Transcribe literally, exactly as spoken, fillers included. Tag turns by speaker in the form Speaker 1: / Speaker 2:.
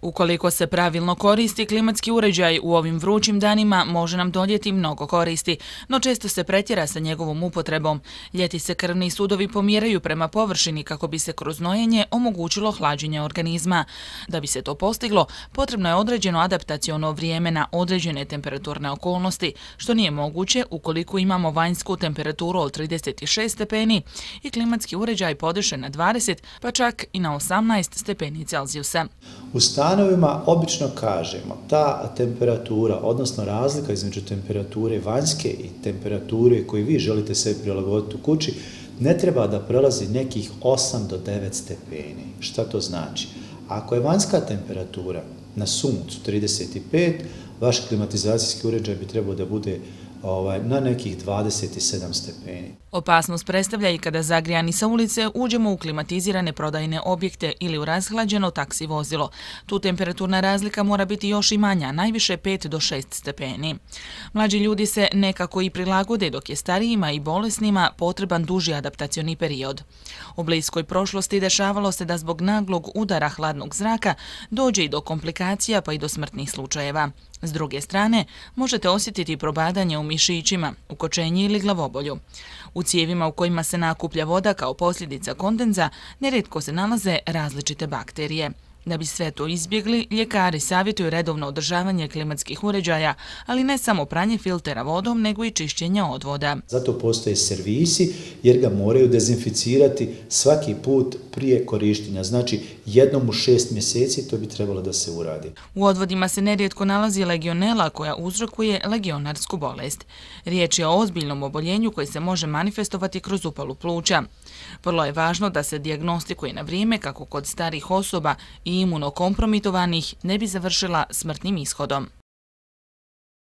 Speaker 1: Ukoliko se pravilno koristi, klimatski uređaj u ovim vrućim danima može nam donijeti mnogo koristi, no često se pretjera sa njegovom upotrebom. Ljeti se krvni sudovi pomjeraju prema površini kako bi se kroz nojenje omogućilo hlađenje organizma. Da bi se to postiglo, potrebno je određeno adaptaciono vrijeme na određene temperaturne okolnosti, što nije moguće ukoliko imamo vanjsku temperaturu od trideset šest stepeni i klimatski uređaj podešen na dvadeset, pa čak i na osamnaest stepeni Celzijusa.
Speaker 2: U stanovima obično kažemo ta temperatura, odnosno razlika između temperature vanjske i temperature koju vi želite sebi prilagoditi u kući, ne treba da prelazi nekih osam do devet stepeni. Šta to znači? Ako je vanjska temperatura na suncu trideset pet, vaš klimatizacijski uređaj bi trebao da bude Ovaj, na nekih dvadeset sedam stepeni.
Speaker 1: Opasnost predstavlja i kada zagrijani sa ulice uđemo u klimatizirane prodajne objekte ili u razhlađeno taksi vozilo. Tu temperaturna razlika mora biti još i manja, najviše pet do šest stepeni. Mlađi ljudi se nekako i prilagode, dok je starijima i bolesnima potreban duži adaptacioni period. U bliskoj prošlosti dešavalo se da zbog naglog udara hladnog zraka dođe i do komplikacija pa i do smrtnih slučajeva. S druge strane, možete osjetiti probadanje u mišićima, ukočenje ili glavobolju. U cijevima u kojima se nakuplja voda kao posljedica kondenza, nerijetko se nalaze različite bakterije. Da bi sve to izbjegli, ljekari savjetuju redovno održavanje klimatskih uređaja, ali ne samo pranje filtera vodom, nego i čišćenje odvoda.
Speaker 2: Zato postoje servisi jer ga moraju dezinficirati svaki put prije korištenja. Znači, jednom u šest mjeseci to bi trebalo da se uradi.
Speaker 1: U odvodima se nerijetko nalazi legionela koja uzrokuje legionarsku bolest. Riječ je o ozbiljnom oboljenju koji se može manifestovati kroz upalu pluća. Vrlo je važno da se dijagnostikuje na vrijeme kako kod starih osoba i imunokompromitovanih ne bi završila smrtnim ishodom.